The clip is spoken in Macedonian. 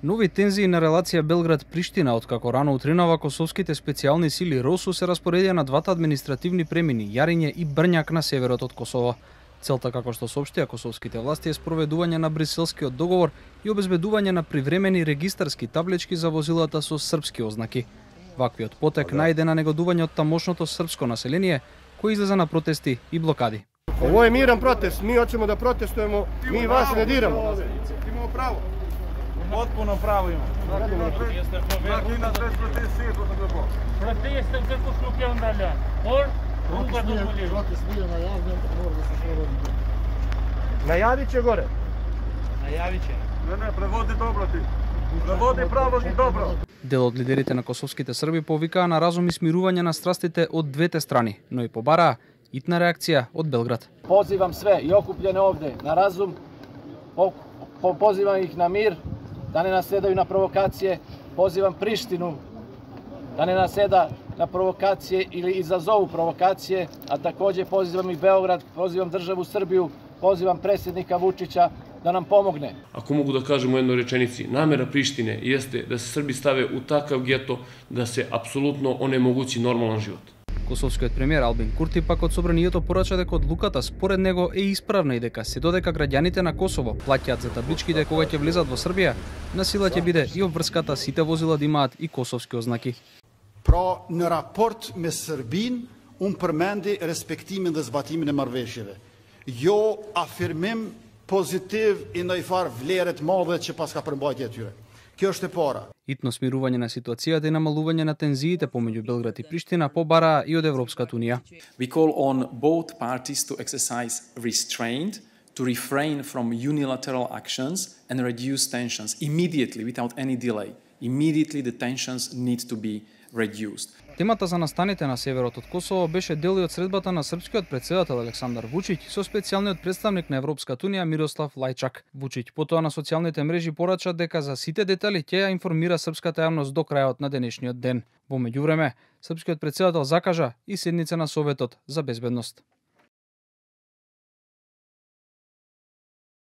Нови тензии на релација Белград-Приштина, откако рано утринава косовските специјални сили РОСУ се распоредија на двата административни премини Јариње и Брњак на северот од Косово. Целта, како што соопштија косовските власти, е спроведување на Бриселскиот договор и обезбедување на привремени регистарски таблички за возилата со српски ознаки. Ваквиот потек најде на негодување од тамошното српско население, кој излеза на протести и блокади. Ово е мирен протест, ми hoćemo да протестуемо, ми вас не дирамо. Имамо право. Potpuno право има. Протестът како слугјан далја. Најавиче горе. Најавиче. Не, преводи добро ти. Преводи право и добро. Дел од лидерите на косовските срби повикаа на разум и смирување на страстите од двете страни, но и побараа итна реакција од Белград. Позивам све и окупljene овде на разум, позивам их на мир, да не наседају на провокације, позивам Приштину да не наседа на провокације или изазову провокације, а такоđe позивам и Beograd, позивам државу Србију, позивам председника Вучиća да нам помогне. Ако могу да кажем у jednoj rečenici, namera Prištine jeste da se Srbi stave u takav geto da se apsolutno onemogući normalan život. Косовскиот премиер Албин Курти пак од собранието порача дека одлуката според него е исправна и дека се додека граѓаните на Косово плаќаат за табличките кога ќе влезат во Србија, на сила ќе биде и обврската сите возила да имаат и косовски ознаки. Pra në raport me Serbinë, unë përmendi respektimin dhe zbatimin e marrëveshjeve. Jo afirmim pozitiv i ndonjë farë vlere të madhe që pas ka përmbajtje e tyre. Kjo është e para. Итно смирување на ситуацијата и намалување на тензиите помеѓу Белград и Приштина побараа и од Европската унија. We call on both parties to exercise restraint, to refrain from unilateral actions and reduce tensions immediately without any delay. Immediately the tensions need to be reduced. Темата за настаните на северот од Косово беше дел и од средбата на српскиот претседател Александар Вучиć со специјалниот представник на Европската унија Мирослав Лајчак. Вучиć потоа на социјалните мрежи порача дека за сите детали ќе ја информира српската јавност до крајот на денешниот ден. Во меѓувреме, српскиот претседател закажа и седница на Советот за безбедност.